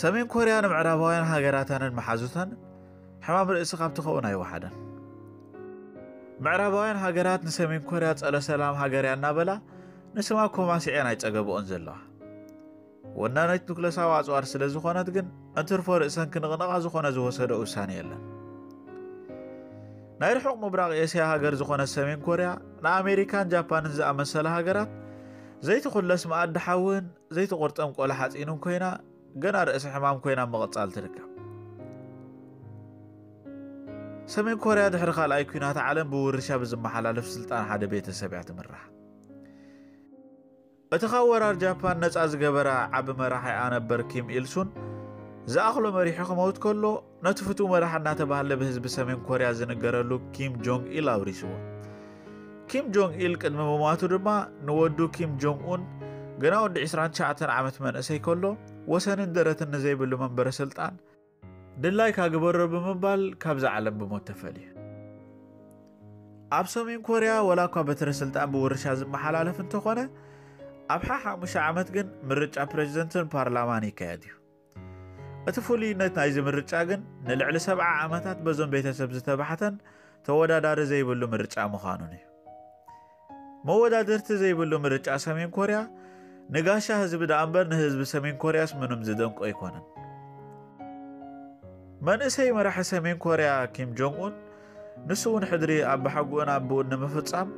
ሰሜን ኮርያ ንምዕራባውያን ሃገራታንን መሓዙታን ሕማም ርእሲ ካብ ትኸውን ኣይወሓደን። ምዕራባውያን ሃገራት ንሰሜን ኮርያ ጸረ ሰላም ሃገር እያ እናበላ ንስማ ኮማሲዐን ኣይጸገበኦን ዘለዋ። ወናኒት ኑክለሳዊ ኣጽዋር ስለ ዝኾነት ግን እንትርፎ ርእሰን ክንቕንቓ ዝኾነ ዝወሰዶ ውሳኔ የለን። ናይ ርሑቕ ምብራቕ ኤስያ ሃገር ዝኾነት ሰሜን ኮርያ ንኣሜሪካን ጃፓንን ዝኣመሰላ ሃገራት ዘይትኹለስ መኣዲ ሓውን ዘይትቑርጠም ቆሎ ሓጺንን ኮይና ገና ርእሲ ሕማም ኮይና ምቕጻል ትርከብ። ሰሜን ኮርያ ድሕሪ ካልኣይ ኲናት ዓለም ብውርሻ ብዝመሓላለፍ ስልጣን ሓደ ቤተሰብ እያ ትምራሕ። እቲ ካብ ወራር ጃፓን ነጻ ዝገበራ ዓቢ መራሒ ኣነበር ኪም ኢልሱን ዝኣኽሎ መሪሑ ክመውት ከሎ ነቲ ፍቱው መራሒ እናተባህለ ብህዝቢ ሰሜን ኮርያ ዝንገረሉ ኪም ጆንግ ኢል ኣውሪስዎ። ኪም ጆንግ ኢል ቅድሚ ምሟቱ ድማ ንወዱ ኪም ጆንግ ኡን ገና ወዲ ዕስራን ትሽዓተን ዓመት መንእሰይ ከሎ ወሰንን ደረትን ንዘይብሉ መንበረ ስልጣን ድላይካ ግበሮ ብምባል ካብዛ ዓለም ብሞት ተፈልዩ። ኣብ ሰሜን ኮርያ ወላ እኳ በትረ ስልጣን ብውርሻ ዝመሓላለፍ እንተኾነ ኣብ ሓሓሙሻ ዓመት ግን ምርጫ ፕሬዝደንትን ፓርላማን ይካየድ እዩ። እቲ ፍሉይነት ናይዚ ምርጫ ግን ንልዕሊ ሰብዓ ዓመታት በዞም ቤተሰብ ዝተባሕተን ተወዳዳሪ ዘይብሉ ምርጫ ምዃኑን እዩ። መወዳድርቲ ዘይብሉ ምርጫ ሰሜን ኮርያ ንጋሻ ህዝቢ ደኣ እምበር ንህዝቢ ሰሜን ኮርያስ ምንም ዝደንቆ ኣይኮነን። መንእሰይ መራሒ ሰሜን ኮርያ ኪም ጆንግ ኡን ንሱ እውን ሕድሪ ኣባሓጉኡን ኣቦኡን ንምፍጻም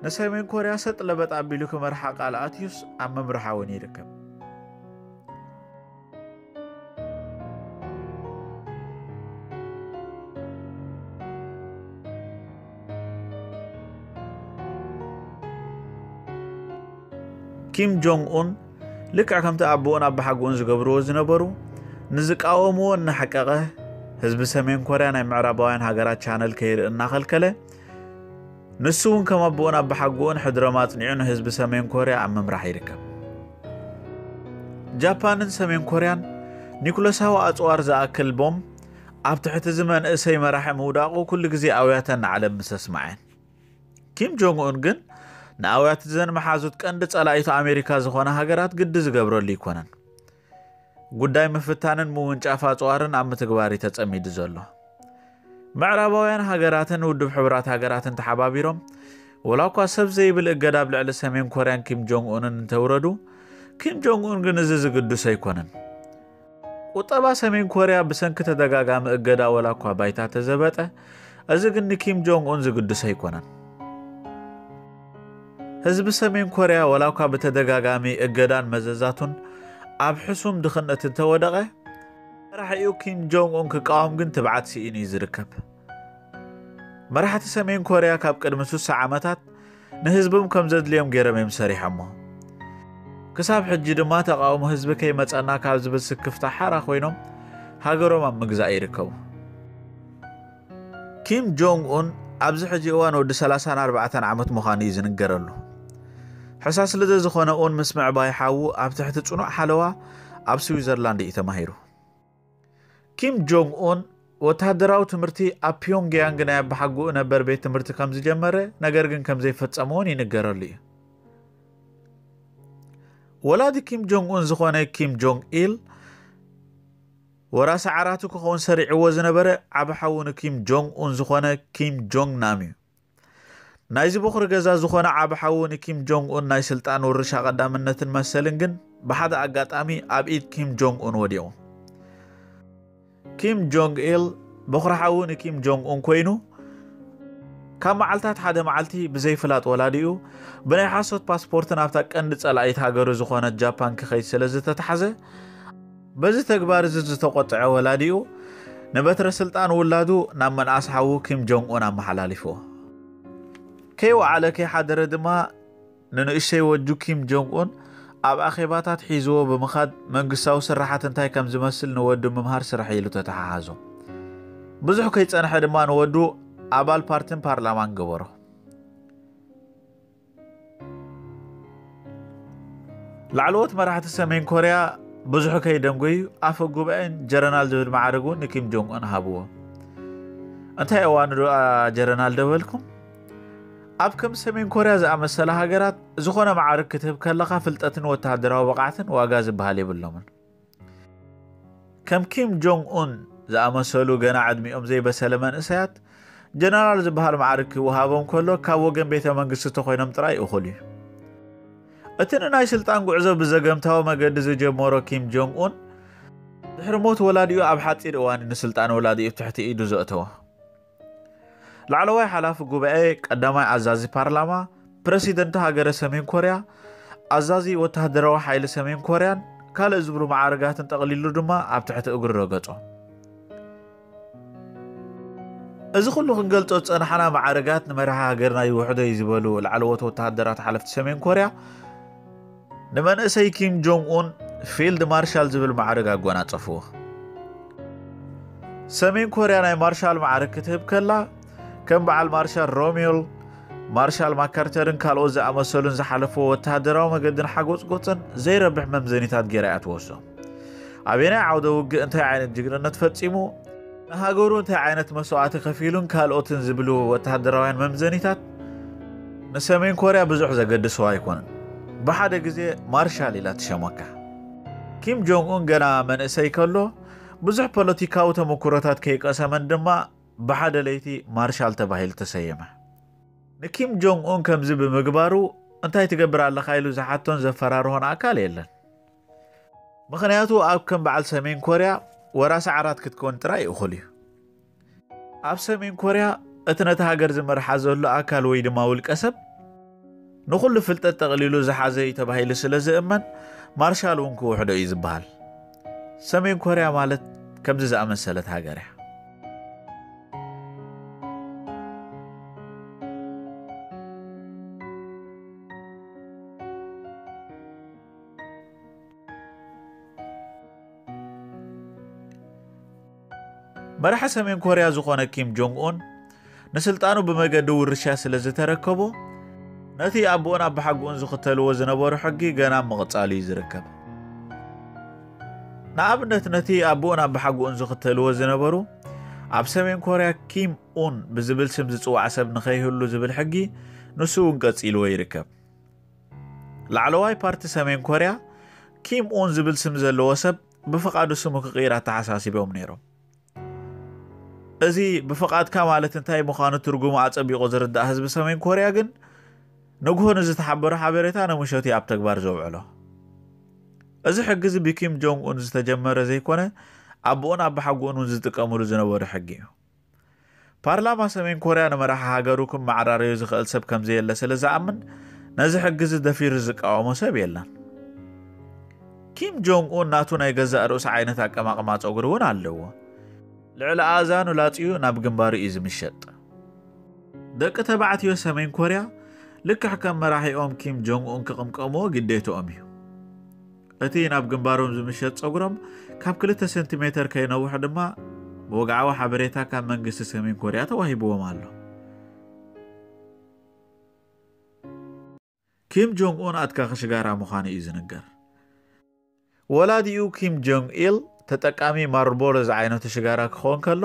ንሰሜን ኮርያ ሰጥ ለበጥ ኣቢሉ ክመርሓ ቃል ኣትዩስ ኣብ ምምርሓ እውን ይርከብ። ኪም ጆንግ ኡን ልክዕ ከምቲ ኣቦኡን ኣባሓጉኡን ዝገብርዎ ዝነበሩ ንዝቃወምዎ እናሓቀቐ ህዝቢ ሰሜን ኮርያ ናይ ምዕራባውያን ሃገራት ቻነል ከይርኢ እናኸልከለ ንሱ እውን ከም ኣቦኡን ኣባሓጉኡን ሕድሮም ኣጽኒዑ ንህዝቢ ሰሜን ኮርያ ኣብ ምምራሕ ይርከብ። ጃፓንን ሰሜን ኮርያን ኒኩለሳዊ ኣጽዋር ዝኣክል ቦምብ ኣብ ትሕቲ እዚ መንእሰይ መራሒ ምውዳቑ ኩሉ ግዜ ኣውያተን ንዓለም ምስ ኣስምዐን። ኪም ጆንግ ኡን ግን ንኣውያት ዘን መሓዙት ቀንዲ ጸላኢቱ ኣሜሪካ ዝኾነ ሃገራት ግዲ ዝገብረሉ ኣይኮነን። ጉዳይ ምፍታንን ምውንጫፍ ኣጽዋርን ኣብ ምትግባር እዩ ተጸሚዱ ዘሎ። ምዕራባውያን ሃገራትን ውድብ ሕቡራት ሃገራትን ተሓባቢሮም ወላ እኳ ሰብ ዘይብል እገዳ ኣብ ልዕሊ ሰሜን ኮርያን ኪም ጆንግ ኡንን እንተውረዱ ኪም ጆንግ ኡን ግን እዚ ዝግዱስ ኣይኮነን። ቁጠባ ሰሜን ኮርያ ብሰንኪ ተደጋጋሚ እገዳ ወላ እኳ ባይታ ተዘበጠ፣ እዚ ግን ንኪም ጆንግ ኡን ዝግዱስ ኣይኮነን። ህዝቢ ሰሜን ኮርያ ወላ እኳ ብተደጋጋሚ እገዳን መዘዛቱን ኣብ ሕሱም ድኽነት እንተወደቐ መራሒኡ ኪም ጆንግ ኡን ክቃወም ግን ትብዓት ስኢኑ እዩ ዝርከብ። መራሕቲ ሰሜን ኮርያ ካብ ቅድሚ ሱሳ ዓመታት ንህዝቦም ከም ዘድልዮም ገይሮም እዮም ሰሪሖሞ። ክሳብ ሕጂ ድማ ተቃውሞ ህዝቢ ከይመጸና ካብ ዝብል ስክፍታ ሓራ ኮይኖም ሃገሮም ኣብ ምግዛእ ይርከቡ። ኪም ጆንግ ኡን ኣብዚ ሕጂ እዋን ወዲ ሰላሳን ኣርባዕተን ዓመት ምዃኑ እዩ ዝንገረሉ። ሕሳስ ልደ ዝኾነ ኡን ምስ ምዕባይ ሓዉ ኣብ ትሕቲ ጽኑዕ ሓለዋ ኣብ ስዊዘርላንድ እዩ ተማሂሩ። ኪም ጆንግ ኡን ወታደራዊ ትምህርቲ ኣብ ፒዮንግያንግ ናይ ኣባሓጉኡ ነበር ቤት ትምህርቲ ከም ዝጀመረ ነገር ግን ከም ዘይፈጸመ እውን ይንገረሉ እዩ። ወላዲ ኪም ጆንግ ኡን ዝኾነ ኪም ጆንግ ኢል ወራሲ ዓራቱ ክኸውን ሰሪዕዎ ዝነበረ ዓቢ ሓዉ ንኪም ጆንግ ኡን ዝኾነ ኪም ጆንግ ናም እዩ። ናይዚ በኹሪ ገዛ ዝኾነ ዓቢ ሓዉ ንኪም ጆንግ ኡን ናይ ስልጣን ውርሻ ቀዳምነትን መሰልን ግን ብሓደ ኣጋጣሚ ኣብ ኢድ ኪም ጆንግ ኡን ወዲቑ። ኪም ጆንግ ኢል በኹሪ ሓዉ ንኪም ጆንግ ኡን ኮይኑ ካብ መዓልታት ሓደ መዓልቲ ብዘይፍላጥ ወላዲኡ ብናይ ሓሶት ፓስፖርት ናብታ ቀንዲ ጸላኢት ሃገሩ ዝኾነት ጃፓን ክኸይድ ስለ ዝተታሕዘ በዚ ተግባር እዚ ዝተቆጥዐ ወላዲኡ ንበትረ ስልጣን ውላዱ ናብ መንኣስ ሓዉ ኪም ጆንግ ኡን ኣመሓላሊፍዎ። ከይወዓለ ከይሓደረ ድማ ንንእሽተይ ወጁ ኪም ጆንግ ኡን ኣብ ኣኼባታት ሒዝዎ ብምኻድ መንግስታዊ ስራሓት እንታይ ከም ዝመስል ንወዱ ምምሃር ስራሕ ኢሉ ተተሓሓዞ። ብዙሕ ከይጸንሐ ድማ ንወዱ ኣባል ፓርቲን ፓርላማን ገበሮ። ላዕለዎት መራሕቲ ሰሜን ኮርያ ብዙሕ ከይደንጎዩ ኣፈ ጉባኤን ጀረናል ዝብል ማዕረግ እውን ንኪም ጆንግ ኡን ሃብዎ። እንታይ እዋኑ ዶኣ ጀረናል ደበልኩም? ኣብ ከም ሰሜን ኮርያ ዝኣመሰላ ሃገራት ዝኾነ ማዕርግ ክትህብ ከለኻ ፍልጠትን ወተሃደራዊ ብቕዓትን ዋጋ ዝበሃል የብሎምን። ከም ኪም ጆንግ ኡን ዝኣመሰሉ ገና ዕድሚኦም ዘይበሰለ መንእሰያት ጀነራል ዝበሃል ማዕርግ ክወሃቦም ከሎ ካብ ወገን ቤተ መንግስቲ ተኾይኖም ጥራይ እኹል እዩ። እቲ ንናይ ስልጣን ጉዕዞ ብዘገምታዊ መገዲ ዝጀመሮ ኪም ጆንግ ኡን ድሕሪ ሞት ወላዲኡ ኣብ ሓፂር እዋን ንስልጣን ወላዲኡ ትሕቲ ኢዱ ዘእተወ። ላዕለዋይ ሓላፊ ጉባኤ፣ ቀዳማይ ኣዛዚ ፓርላማ፣ ፕረሲደንት ሃገረ ሰሜን ኮርያ፣ ኣዛዚ ወተሃደራዊ ሓይሊ ሰሜን ኮርያን ካልእ ዝብሉ ማዕርጋትን ጠቕሊሉ ድማ ኣብ ትሕቲ እግሩ ረገጾ። እዚ ኩሉ ክንገልጾ ዝጸናሕና ማዕርጋት ንመራሒ ሃገርና ይውሕዶ እዩ ዝበሉ ላዕለዎት ወተሃደራት ሓለፍቲ ሰሜን ኮርያ ንመንእሰይ ኪም ጆንግ ኡን ፊልድ ማርሻል ዝብል ማዕርግ ኣጎናጸፍዎ። ሰሜን ኮርያ ናይ ማርሻል ማዕርግ ክትህብ ከላ ከም በዓል ማርሻል ሮሚል፣ ማርሻል ማካርተርን ካልኦት ዝኣመሰሉን ዝሓለፍዎ ወተሃደራዊ መገድን ሓጎጽጎጽን ዘይረብሕ መምዘኒታት ገይራ እያ ትወስዶ። ኣበየናይ ዓውደ ውግእ እንታይ ዓይነት ጅግንነት ፈጺሙ፣ ንሃገሩ እንታይ ዓይነት መስዋእቲ ከፊሉን ካልኦትን ዝብሉ ወተሃደራውያን መምዘኒታት ንሰሜን ኮርያ ብዙሕ ዘገድስዋ ኣይኮነን። ብሓደ ግዜ ማርሻል ኢላ ትሸመካ። ኪም ጆንግ ኡን ገና መንእሰይ ከሎ ብዙሕ ፖለቲካዊ ተመኩሮታት ከይቀሰመን ድማ ብሓደ ለይቲ ማርሻል ተባሂሉ ተሰየመ። ንኪም ጆንግ ኡን ከምዚ ብምግባሩ እንታይ ትገብር ኣለኻ ኢሉ ዝሓቶን ዘፈራርሆን ኣካል የለን። ምኽንያቱ ኣብ ከም በዓል ሰሜን ኮርያ ወራሲ ዓራት ክትከውን ጥራይ እኹል እዩ። ኣብ ሰሜን ኮርያ እቲ ነቲ ሃገር ዝመርሓ ዘሎ ኣካል ወይ ድማ ውልቀ ሰብ ንኹሉ ፍልጠት ጠቕሊሉ ዝሓዘ እዩ ተባሂሉ ስለ ዝእመን ማርሻል እውን ክውሕዶ እዩ ዝበሃል። ሰሜን ኮርያ ማለት ከምዚ ዝኣመሰለት ሃገር እያ። መራሒ ሰሜን ኮርያ ዝኾነ ኪም ጆንግ ኡን ንስልጣኑ ብመገዲ ውርሻ ስለ ዝተረከቦ ነቲ ኣቦኡን ኣባሓጎኡን ዝኽተልዎ ዝነበሩ ሕጊ ገና ምቕጻሉ እዩ ዝርከብ። ንኣብነት ነቲ ኣቦኡን ኣባሓጎኡን ዝኽተልዎ ዝነበሩ ኣብ ሰሜን ኮርያ ኪም ኡን ብዝብል ስም ዝጽዋዕ ሰብ ንኸይህሉ ዝብል ሕጊ ንሱ እውን ቀጺልዎ ይርከብ። ላዕለዋይ ፓርቲ ሰሜን ኮርያ ኪም ኡን ዝብል ስም ዘለዎ ሰብ ብፍቓዱ ስሙ ክቕይር ኣተሓሳሲቦም ነይሮም። እዚ ብፍቓድካ ማለት እንታይ ምዃኑ ትርጉሙ ኣጸቢቑ ዝርዳእ ህዝቢ ሰሜን ኮርያ ግን ንግሆ ንዝተሓበሮ ሓበሬታ ንምሸት እዩ ኣብ ተግባር ዘውዕሎ። እዚ ሕጊ እዚ ብኪም ጆንግ ኡን ዝተጀመረ ዘይኮነ ኣቦኡን ኣባሓጎኡን እውን ዝጥቀምሉ ዝነበሩ ሕጊ እዩ። ፓርላማ ሰሜን ኮርያ ንመራሒ ሃገሩ ክመዓራረዩ ዝኽእል ሰብ ከም ዘየለ ስለ ዝኣምን ነዚ ሕጊ እዚ ደፊሩ ዝቃወሞ ሰብ የለን። ኪም ጆንግ ኡን ናቱ ናይ ገዛእ ርእሱ ዓይነት ኣቀማቕማ ጸጉሪ እውን ኣለዎ። ልዕሊ ኣእዛኑ ላጽዩ ናብ ግንባሩ እዩ ዝምሸጥ። ደቂ ተባዕትዮ ሰሜን ኮርያ ልክዕ ከም መራሒኦም ኪም ጆንግ ኡን ክቕምቀምዎ ግዴትኦም እዩ። እቲ ናብ ግንባሮም ዝምሸጥ ጸጉሮም ካብ ክልተ ሴንቲሜተር ከይነውሕ ድማ ብወግዓዊ ሓበሬታ ካብ መንግስቲ ሰሜን ኮርያ ተዋሂብዎም ኣሎ። ኪም ጆንግ ኡን ኣትካኺ ሽጋራ ምዃኑ እዩ ዝንገር። ወላዲኡ ኪም ጆንግ ኢል ተጠቃሚ ማርልቦሮ ዝዓይነቱ ሽጋራ ክኸውን ከሎ፣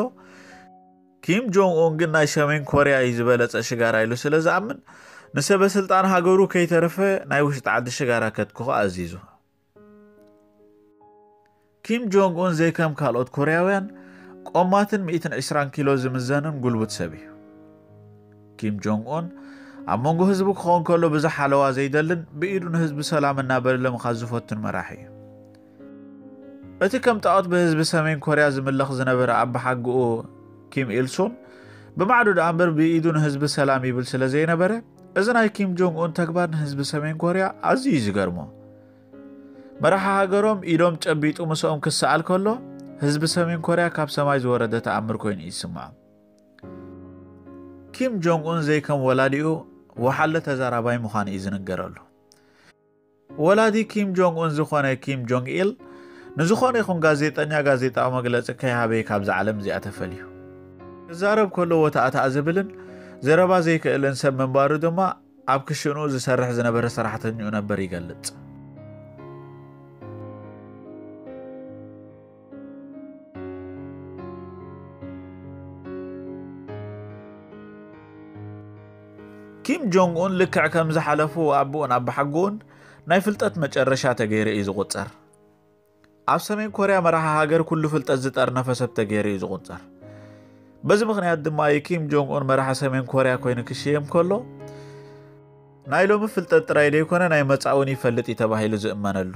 ኪም ጆንግ ኡን ግን ናይ ሰሜን ኮርያ እዩ ዝበለጸ ሽጋራ ኢሉ ስለ ዝኣምን ንሰበ ስልጣን ሃገሩ ከይተረፈ ናይ ውሽጢ ዓዲ ሽጋራ ከትክኹ ኣዚዙ። ኪም ጆንግ ኡን ዘይከም ካልኦት ኮርያውያን ቆማትን ሚእትን ዕስራን ኪሎ ዝምዘንን ጉልቡት ሰብ እዩ። ኪም ጆንግ ኡን ኣብ መንጎ ህዝቡ ክኸውን ከሎ ብዙሕ ሓለዋ ዘይደልን ብኢዱ ንህዝቢ ሰላም እናበለ ምኻድ ዝፈቱን መራሒ እዩ። እቲ ከም ጣዖት ብህዝቢ ሰሜን ኮርያ ዝምለኽ ዝነበረ ኣባሓጎኡ ኪም ኢልሱን ብማዕዶ ደኣ እምበር ብኢዱ ንህዝቢ ሰላም ይብል ስለ ዘይነበረ እዚ ናይ ኪም ጆንግ ኡን ተግባር ንህዝቢ ሰሜን ኮርያ ኣዝዩ እዩ ዝገርሞ። መራሒ ሃገሮም ኢዶም ጨቢጡ ምስኦም ክሰኣል ከሎ ህዝቢ ሰሜን ኮርያ ካብ ሰማይ ዝወረደ ተኣምር ኮይኑ እዩ ዝስምዖም። ኪም ጆንግ ኡን ዘይከም ወላዲኡ ወሓለ ተዛራባይ ምዃኑ እዩ ዝንገረሉ። ወላዲ ኪም ጆንግ ኡን ዝኾነ ኪም ጆንግ ኢል ንዝኾነ ይኹን ጋዜጠኛ ጋዜጣዊ መግለጺ ከይሃበ ካብዛ ዓለም እዚኣ ተፈልዩ። ክዛረብ ከሎ ወታእታእ ዝብልን ዘረባ ዘይክእልን ሰብ ምንባሩ ድማ ኣብ ክሽንኡ ዝሰርሕ ዝነበረ ሰራሕተኛኡ ነበር ይገልጽ። ኪም ጆንግ ኡን ልክዕ ከም ዝሓለፉ ኣቦኡን ኣባሓጎኡን ናይ ፍልጠት መጨረሻ ተገይሩ እዩ ዝቑጸር። ኣብ ሰሜን ኮርያ መራሒ ሃገር ኩሉ ፍልጠት ዝጠርነፈ ሰብ ተገይሩ እዩ ዝቑጸር። በዚ ምኽንያት ድማ እዩ ኪም ጆንግ ኡን መራሒ ሰሜን ኮርያ ኮይኑ ክሽየም ከሎ፣ ናይ ሎሚ ፍልጠት ጥራይ ዘይኮነ ናይ መጻእውን ይፈልጥ እዩ ተባሂሉ ዝእመነሉ።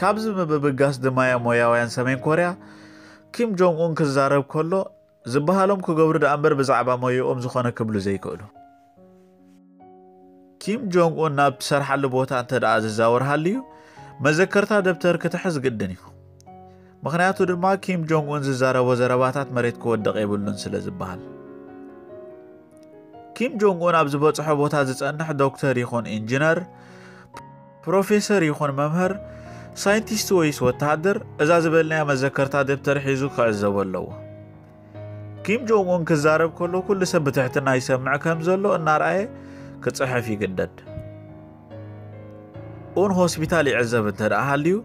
ካብዚ ምብብጋስ ድማ እዮም ሞያውያን ሰሜን ኮርያ ኪም ጆንግ ኡን ክዛረብ ከሎ ዝበሃሎም ክገብሩ ደኣ እምበር ብዛዕባ ሞያኦም ዝኾነ ክብሉ ዘይክእሉ። ኪም ጆንግ ኡን ናብ ትሰርሓሉ ቦታ እንተ ደኣ ዝዛወር ሃልዩ መዘከርታ ደብተር ክትሕዝ ግድን እዩ። ምኽንያቱ ድማ ኪም ጆንግ ኡን ዝዛረቦ ዘረባታት መሬት ክወድቕ የብሉን ስለ ዝበሃል። ኪም ጆንግ ኡን ኣብ ዝበጽሖ ቦታ ዝጸንሕ ዶክተር ይኹን ኢንጂነር፣ ፕሮፌሰር ይኹን መምህር፣ ሳይንቲስት ወይስ ወተሃደር እዛ ዝበልናያ መዘከርታ ደብተር ሒዙ ክዕዘቦ ኣለዎ። ኪም ጆንግ ኡን ክዛረብ ከሎ ኩሉ ሰብ ብትሕትና ይሰምዕ ከም ዘሎ እናርኣየ ክጽሕፍ ይግደድ። ኡን ሆስፒታል ይዕዘብ እንተ ደኣ ሃልዩ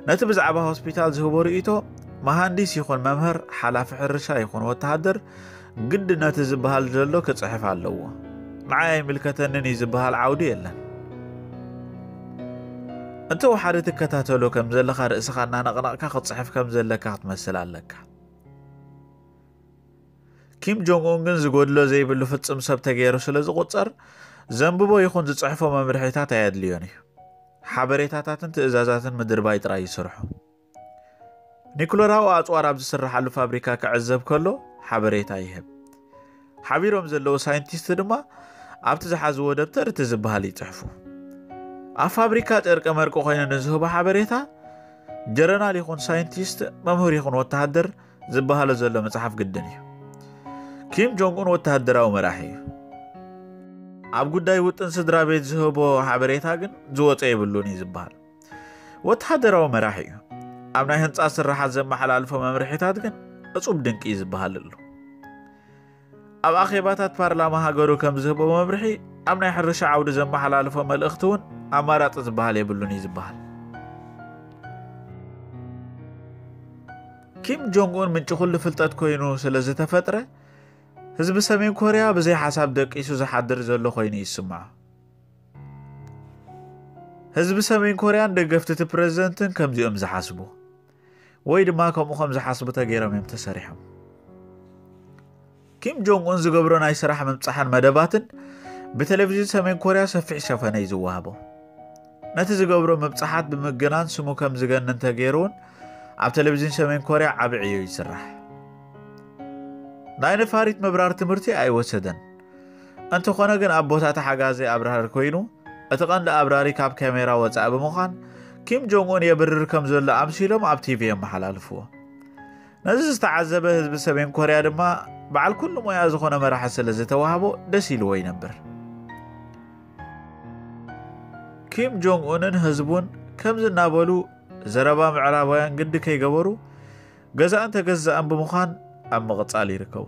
ነቲ ብዛዕባ ሆስፒታል ዝህቦ ርእይቶ መሃንዲስ ይኹን መምህር፣ ሓላፊ ሕርሻ ይኹን ወተሃደር ግዲ ነቲ ዝበሃል ዘሎ ክጽሕፍ ኣለዎ። ንዓይ ኣይምልከተንን እዩ ዝበሃል ዓውዲ የለን። እንተ ወሓደ ትከታተሎ ከም ዘለኻ ርእስኻ እናነቕነቕካ ክትጽሕፍ ከም ዘለካ ክትመስል ኣለካ። ኪም ጆንግ ኡን ግን ዝጎድሎ ዘይብሉ ፍጽም ሰብ ተገይሩ ስለ ዝቑጸር ዘንብቦ ይኹን ዝጽሕፎ መምርሒታት ኣየድልዮን እዩ። ሓበሬታታትን ትእዛዛትን ምድርባይ ጥራይ ይስርሑ። ኒኩለራዊ ኣጽዋር ኣብ ዝስርሓሉ ፋብሪካ ክዕዘብ ከሎ ሓበሬታ ይህብ። ሓቢሮም ዘለዉ ሳይንቲስት ድማ ኣብቲ ዝሓዝዎ ደብተር እቲ ዝበሃል ይጽሕፉ። ኣብ ፋብሪካ ጨርቂ መርቂ ኮይኑ ንዝህቦ ሓበሬታ ጀረናል ይኹን ሳይንቲስት፣ መምህር ይኹን ወተሃደር ዝበሃሎ ዘሎ መጽሓፍ ግድን እዩ። ኪም ጆንግ ኡን ወተሃደራዊ መራሒ እዩ። ኣብ ጉዳይ ውጥን ስድራ ቤት ዝህቦ ሓበሬታ ግን ዝወጸ የብሉን እዩ ዝበሃል። ወተሃደራዊ መራሒ እዩ። ኣብ ናይ ህንጻ ስራሓት ዘመሓላልፎ መምርሒታት ግን እጹብ ድንቂ እዩ ዝበሃለሉ። ኣብ ኣኼባታት ፓርላማ ሃገሩ ከም ዝህቦ መምርሒ፣ ኣብ ናይ ሕርሻ ዓውዲ ዘመሓላልፎ መልእኽቲ እውን ኣማራጺ ዝበሃል የብሉን እዩ ዝበሃል። ኪም ጆንግ ኡን ምንጪ ኩሉ ፍልጠት ኮይኑ ስለ ዝተፈጥረ፣ ህዝቢ ሰሜን ኮርያ ብዘይ ሓሳብ ደቂሱ ዝሓድር ዘሎ ኮይኑ ይስምዖ። ህዝቢ ሰሜን ኮርያን ደገፍቲ እቲ ፕረዚደንትን ከምዚኦም ዝሓስቡ ወይ ድማ ከምኡ ከም ዝሓስቡ ተገይሮም እዮም ተሰሪሖም። ኪም ጆንግ ኡን ዝገብሮ ናይ ስራሕ ምብጻሕን መደባትን ብቴሌቪዥን ሰሜን ኮርያ ሰፊሕ ሸፈነ እዩ ዝወሃቦ። ነቲ ዝገብሮ ምብጻሓት ብምግናን ስሙ ከም ዝገንን ተገይሩ እውን ኣብ ቴሌቪዥን ሰሜን ኮርያ ዓቢ ዕዮ ይስራሕ። ናይ ነፋሪት ምብራር ትምህርቲ ኣይወሰደን። እንተኾነ ግን ኣብ ቦታ ተሓጋዚ ኣብራሪ ኮይኑ፣ እቲ ቀንዲ ኣብራሪ ካብ ካሜራ ወጻኢ ብምዃን ኪም ጆንግ ኡን የብርር ከም ዘሎ ኣምሲሎም ኣብ ቲቪ የመሓላልፍዎ። ነዚ ዝተዓዘበ ህዝቢ ሰሜን ኮርያ ድማ በዓል ኩሉ ሞያ ዝኾነ መራሒ ስለ ዝተዋህቦ ደስ ኢልዎ ይነብር። ኪም ጆንግ ኡንን ህዝቡን ከምዚ እናበሉ ዘረባ ምዕራባውያን ግዲ ከይገበሩ ገዛእን ተገዛእን ብምዃን ኣብ ምቕጻል ይርከቡ።